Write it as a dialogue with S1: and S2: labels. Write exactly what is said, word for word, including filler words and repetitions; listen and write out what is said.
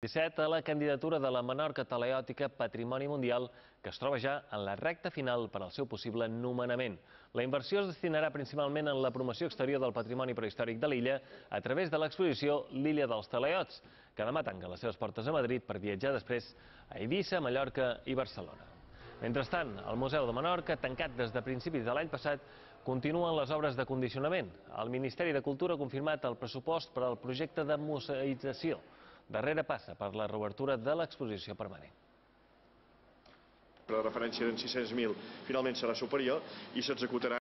S1: disset a la candidatura de la Menorca Talaiòtica Patrimoni Mundial, que es troba ja en la recta final per al seu possible nomenament. La inversió es destinarà principalment en la promoció exterior del patrimoni prehistòric de l'illa a través de l'exposició L'Illa dels Talaiots, que demà tanca les seves portes a Madrid per viatjar després a Eivissa, Mallorca i Barcelona. Mentrestant, el Museu de Menorca, tancat des de principis de l'any passat, continuen les obres de condicionament. El Ministeri de Cultura ha confirmat el pressupost per al projecte de museïtzació. Darrere passa per la reobertura de l'exposició permanent.
S2: La referència d'en sis-cents mil finalment serà superior i s'executarà